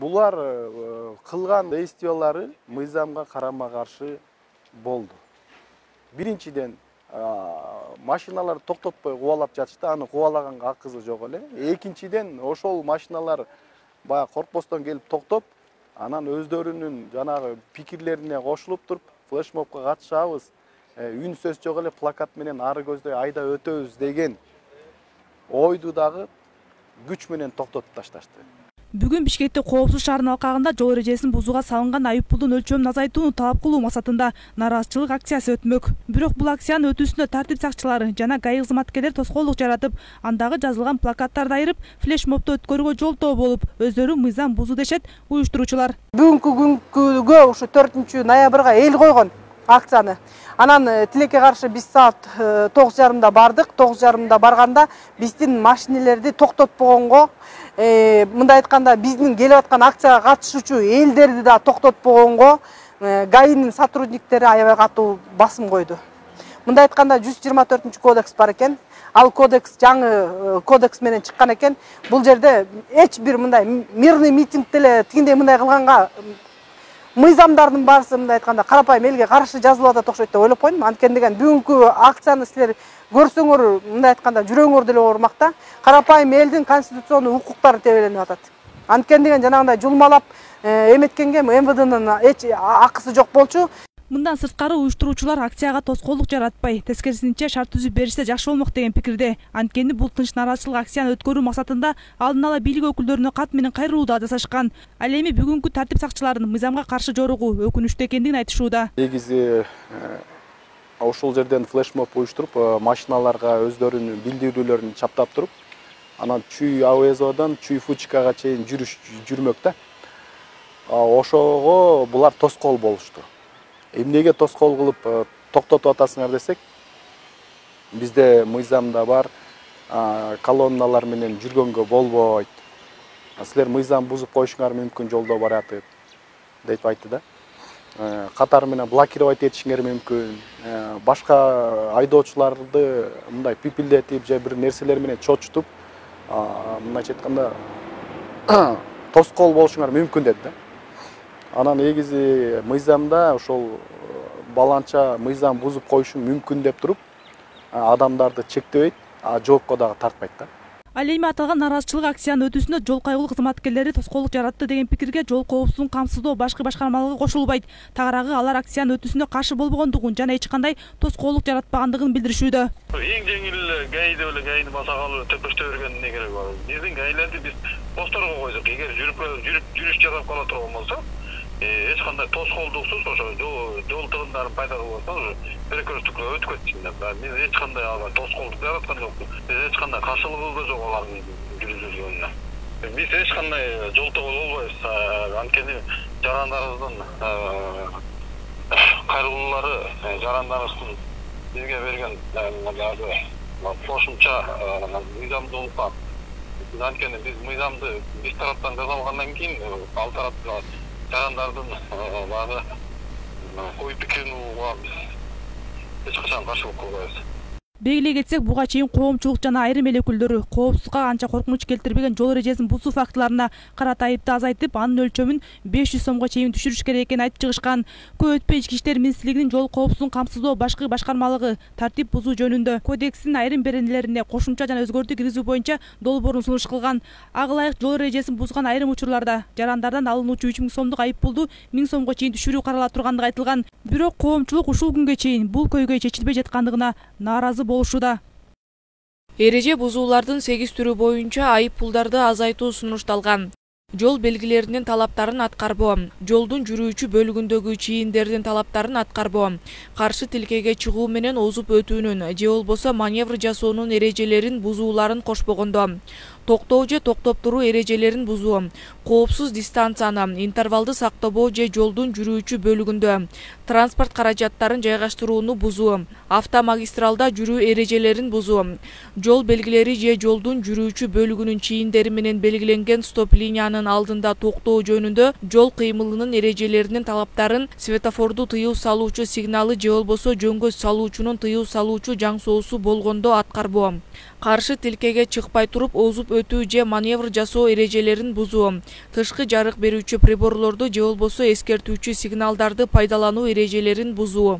Булар кылган действиялары мыйзамга карама-каршы болду. Биринчиден машиналар токтотпой кубалап жатышты, аны кубалаганга акысы жок эле. Экинчиден ошол машиналар баягы коркпостон келип токтоп, анан өздөрүнүн жанагы пикирлерине кошулуп туруп, флешмобко катышабыз, үн сөз жок эле плакат менен ары көздөй айда өтөбүз деген ойду дагы күч менен токтотуп ташташты. Бүгүн Бишкекте Коопсуз шаарынын алкагында жол эрежесин бузууга салынган айыппулдун өлчөмүн азайтууну талап кылуу максатында нааразычылык акциясы өтмөк. Бирок бул акциянын өтүүсүндө тартип сакчылары жана ГАИ кызматкерлери тоскоолдук жаратып, андагы жазылган плакаттарды айырып, флешмобду өткөрүүгө жолтоо болуп, өздөрү мыйзам бузуу дешет уюштуруучулар. Бүгүнкү күнгө ушу 4 ноябрга эл койгон акцияны. Анан тилекке каршы биз саат 9:30 бардык. 9:30 барганда биздин машинелерди токтотпогонго, мындай айтканда биздин келип аткан акцияга катышуучу элдерди да токтотпогонго ГАИнин сотрудниктери аябай катуу басым койду. Мындай айтканда 124 кодекс бар экен. Ал кодекс жаңы кодекс менен чыккан экен. Бул жерде эч бир мындай мирный митинг деле тигиндей мындай кылганга мыйзамдардын баарысы мындай айтканда карапайым элге каршы жазылып атат окшойт деп ойлоп койдум. Анткени деген бүгүнкү акцияны силер көрсөңөр, мындай айтканда жүрөгүңөр деле оорумакта. Карапайым элдин конституциондук укуктары тебеленип атат. Анткени деген жанагындай жулмалап эметкенге МВДнын эч акысы жок болчу. Мындан сырткары уюштуруучулар акцияга тоскоолдук жаратпай, тескерисинче шарт түзүп беришсе жакшы болмок деген пикирде. Анткени бул тынч нааразычылык акцияны өткөрүү максатында алдын ала бийлик өкүлдөрүнө кат менен кайрылуу да жасашкан. Ал эми бүгүнкү тартип сакчыларынын мыйзамга каршы жоругу өкүнүчтүү экендигин айтышууда. Негизи ошол жерден флешмоб уюштуруп, машиналарга өздөрүнүн билдирүүлөрүн чаптап туруп, анан Чүй АВЗОдон Чүй Фучикага чейин жүрмөк да. Ошого булар тоскоол болушту. Эмнеге тоскоол кылып токтотуп атасыңар десек, бизде мыйзамда бар, колонналар менен жүргөнгө болбойт. Силер мыйзам бузуп коюшуңар мүмкүн жолдо баратып деп айтты да. Катар менен блокировать этишиңер мүмкүн. Башка айдоочуларды мындай пипилдетип же бир нерселер менен чочутуп, мындайча айтканда тоскоол болушуңар мүмкүн деп да. Анан негизи мыйзамда ошол баланча мыйзам бузуп коюшу мүмкүн деп туруп, адамдарды чектебейт, жоопко дагы тартпайт да. Ал эми аталган нааразычылык акциянын өтүүсүндө жол кайгылуу кызматкерлери тоскоолдук жаратты деген пикирге жол коопсуздугун камсыздоо башкы башкармалыгы кошулбайт. Тагыраагы алар акциянын өтүүсүндө каршы болбогондугун жана эч кандай тоскоолдук жаратпагандыгын билдиришүүдө. Эң жеңил ГАИ деп эле ГАИни басакалы төпөштө берген не керек бар. Биздин ГАИлерди биз посторго койдук. Эгер жүрүш жасап кала турган болсо, эч кандай тоскоолдуксуз ошо жол тыгындарын пайда кылып атса, перекресткке өтүп кетсин. Биз эч кандай тоскоолдук жараткан жокпуз. Биз эч кандай каршылыгыбыз да жок алардын жүргүзүлгөнүнө. Биз эч кандай жолтоо болбойбуз. Анткени жарандарыбыздын кайрылуулары, жарандарыбыздын бизге берген кошумча мыйзамдуулукка. Анткени биз мыйзамды биз тараптан жасалгандан кийин ал тарапта жарандардын багы ой пикирин угууга эч качан каршылык кылбайбыз. Белгилей кетсек, буга чейин коомчулук жана айрым эл өкүлдөрү коопсузга анча коркунуч келтирбеген жол эрежесин бузуу фактыларына карата айыпты азайтып, анын өлчөмүн 500 сомго чейин түшүрүш керек экенин айтып чыгышкан. Көп өтпөй Ички иштер министрлигинин жол коопсуздугун камсыздоо башкы башкармалыгы тартип бузуу жөнүндө кодекстин айрым беренелерине кошумча жана өзгөртүү киргизүү боюнча долбоорун сунуш кылган. Ага ылайык жол эрежесин бузган айрым учурларда жарандардан алынуучу 3000 сомдук айыппулду 1000 сомго чейин түшүрүү каралып тургандыгы айтылган. Бирок коомчулук ушул күнгө чейин бул көйгөй чечилбей жаткандыгына нааразы болушууда. Эреже бузуулардын 8 түрү боюнча айыппулдарды азайтуу сунушталган. Жол белгилеринин талаптарын аткарбоо, жолдун жүрүүчү бөлүгүндөгү чийиндердин талаптарын аткарбоо, каршы тилкеге чыгуу менен озуп өтүүнүн же болбосо маневр жасоонун эрежелерин бузууларын кошпогондо, токтоо же токтоп туруу эрежелерин бузуу, коопсуз дистанцияны, интервалды сактабоо же жолдун жүрүүчү бөлүгүндө транспорт каражаттарын жайгаштырууну бузуу, автомагистралда жүрүү эрежелерин бузуу, жол белгилери же жолдун жүрүүчү бөлүгүнүн чийиндери менен белгиленген стоп линиянын алдында токтоо жөнүндө жол кыймылынын эрежелеринин талаптарын, светофорду тыюу салуучу сигналы же болбосо жөнгө салуучунун тыюу салуучу жаң соосу болгондо аткарбоо, каршы тилкеге чыкпай туруп озуп өтүү же маневр жасоо эрежелерин бузуу, тышкы жарык берүүчү приборлорду же болбосо эскертүүчү сигналдарды пайдалануу эрежелерин бузуу.